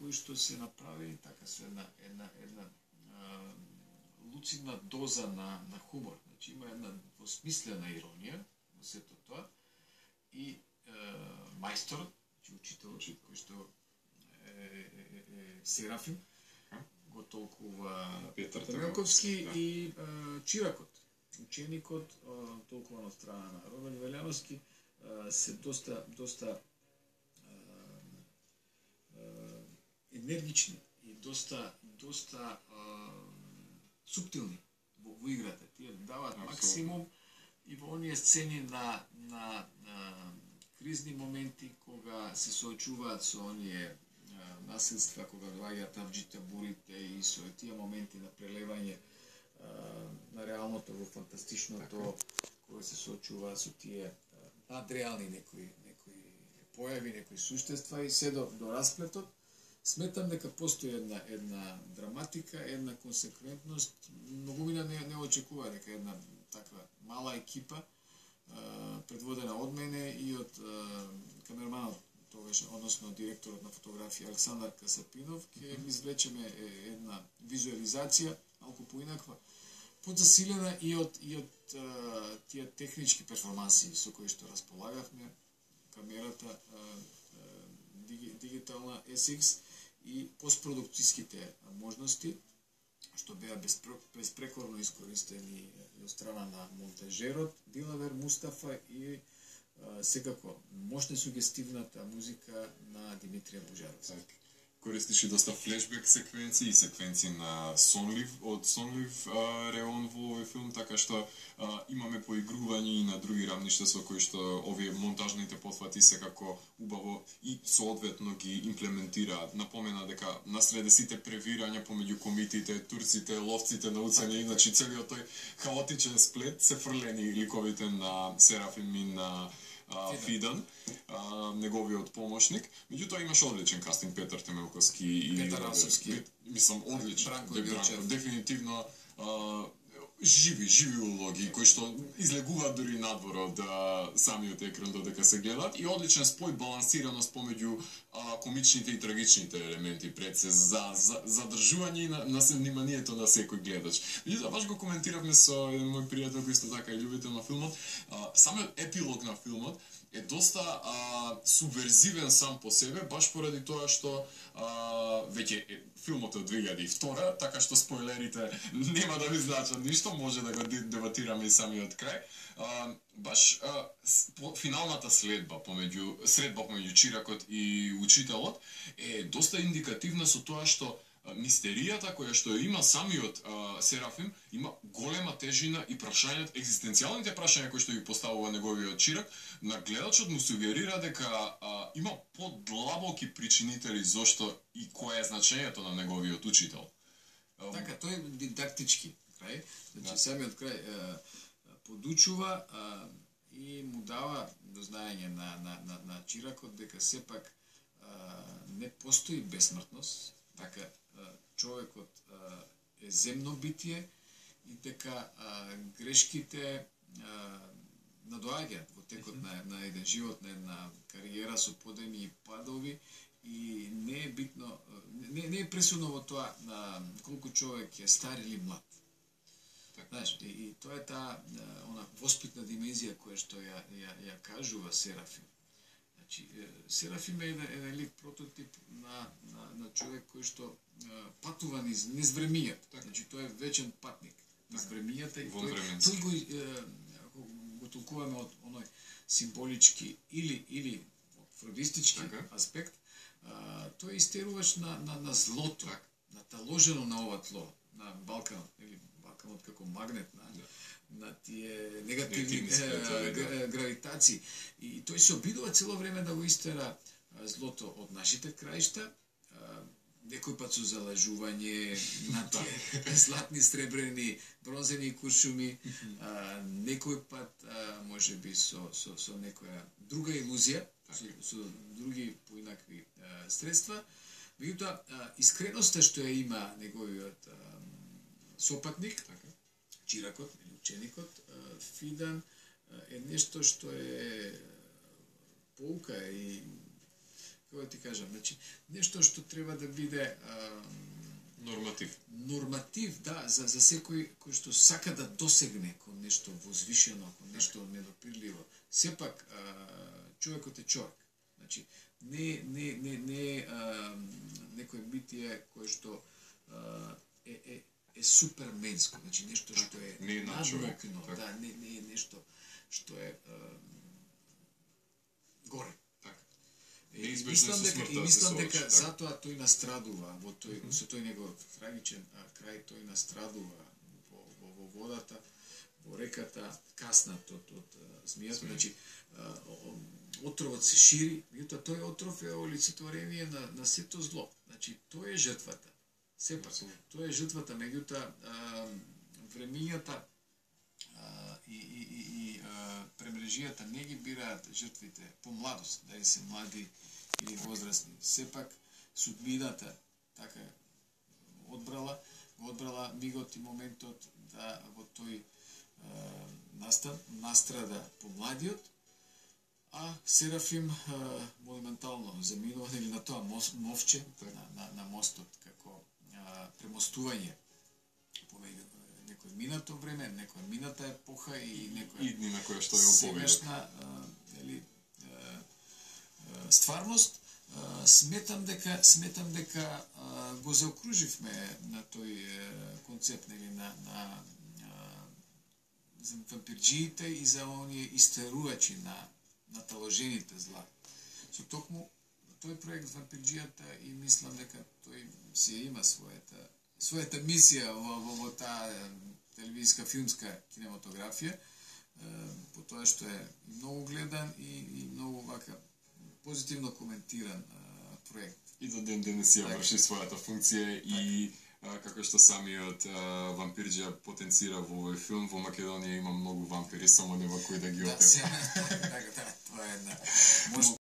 кои што се направени така со една луцидна доза на хумор. Значи има една двосмислена иронија во сето тоа и мајстор, значи учителот кој што Серафим го толкува Петар Темелковски и чиракот, ученикот толкува од страна на Роберт Велјановски се доста енергични и доста суптилни во играта. Тие даваат максимум и во оние сцени на кризни моменти кога се соочуваат со оние насилства, кога доаѓаат авџите, бурите и со тие моменти на прелевање на реалното во фантастичното, кога се соочуваат со тие надреални некои појави, некои суштества и се до расплетот. Сметам дека постои една драматика, една консеквентност. Многумина не очекува дека една таква мала екипа, предводена од мене и од камерманот тогаш, односно директорот на фотографија Александар Касапинов, ќе извлечеме една визуализација малку поинаква, подзасилена и од тие технички перформанси со кои што располагавме, камерата дигитална SX и постпродукцијските можности, што беа безпрекорно искористени од страна на монтажерот Дилавер Мустафа и секако мощна сугестивната музика на Димитрија Божаров. Користиш и доста флешбек секвенции и секвенции на од сонлив реон во овој филм, така што имаме поигрување и на други рамништа со кои што овие монтажните потфати секако убаво и соодветно ги имплементираат. Напомена дека насреде сите превирања помеѓу комитите, турците, ловците на уцени, значи целиот тој хаотичен сплет се фрлени ликовите на Серафим и на Фидан, неговиот помошник. Меѓутоа имаш одличен кастинг, Петар Темелковски и Петар Расовски. Мислам одличен. Бранко Билчев. Дефинитивно живи улоги кои што излегуваат дури надвор од самиот екран додека се гледаат и одличен спој, балансираност помеѓу комичните и трагичните елементи пред се за задржување на вниманието на секој гледач. Меѓутоа баш го коментиравме со еден мој пријател кој исто така е љубител на филмот. Самиот епилог на филмот е доста субверзивен сам по себе, баш поради тоа што веќе филмот од 2002, така што спойлерите нема да ви значат ништо, може да го дебатираме и самиот крај. Баш финалната средба помеѓу чиракот и учителот е доста индикативна со тоа што мистеријата која што има самиот Серафим има голема тежина и прашањата, екзистенцијалните прашања кои што ги поставува неговиот чирак, на гледачот му сугерира дека има подлабоки причинители зошто и кое е значењето на неговиот учител. Така, тој е дидактички крај, значи самиот крај подучува и му дава до знаење на чиракот дека сепак не постои бесмртност, така човекот е земно битие и дека грешките надоаѓаат во текот на еден живот, на една кариера со подеми и падови и не е битно, не е пресудно во тоа колку човек е стар или млад. Знаеш, и тоа е таа она воспитна димензија која што ја кажува Серафим. Значи, Серафим е еден лик прототип на човек кој што патува низ времињата. Значи, тој е вечен патник низ времињата и тој го толкуваме од оној символички или фродистички аспект, тој истеруваш на злото, наталожено на ова тло, на Балканот, или Балканот како магнет на тие негативни гравитации. И тој се обидува цело време да го истера злото од нашите краишта, некој пат со залажување на тие златни, сребрени, бронзени куршуми, некој пат можеби со некоја друга илузија, со други поинакви средства. Меѓутоа, искреноста што ја има неговиот сопатник, чиракот или ученикот, Фидан, е нешто што е поука и како ти кажам, значи нешто што треба да биде норматив, да, за секој кој што сака да досегне кон нешто возвишено, кон нешто недопирливо. Сепак човекот е човек. Значи не некој битие кој што е суперменско, значи нешто што е надмокно, да, не е нешто што е горе. И мислам дека затоа тој настрадува со тој негов трагичен крај, тој настрадува во водата, во реката, каснат од змијата, значи отровот се шири, меѓутоа тој отров е олицетворение на сето зло. Значи тој е жртвата. Сепак, тоа е жртвата, меѓутоа времињата и премрежијата не ги бираат жртвите по младост, дали се млади или возрастни. Сепак судбината така одбрала мигот и моментот да во тој настрада помладиот, а Серафим монументално заминува или на тоа мовче на мостот како премостување помеѓу некој минато време, некоја мината епоха и некоја идни на која што ја сегашна стварност. Сметам дека го заокруживме на тој концепт на за вампирџиите и за оние истерувачи на таложените зла. Со токму тој проект вампирџијата и мислам дека тој си има својата мисија во таа телевизиска филмска кинематографија, по тоа што е многу гледан и многу вака позитивно коментиран проект. И до ден денес ја врши својата функција и како што самиот вампирџија потенцира во овој филм, во Македонија има многу вампири, само нема кој да ги опе. Да, тоа е една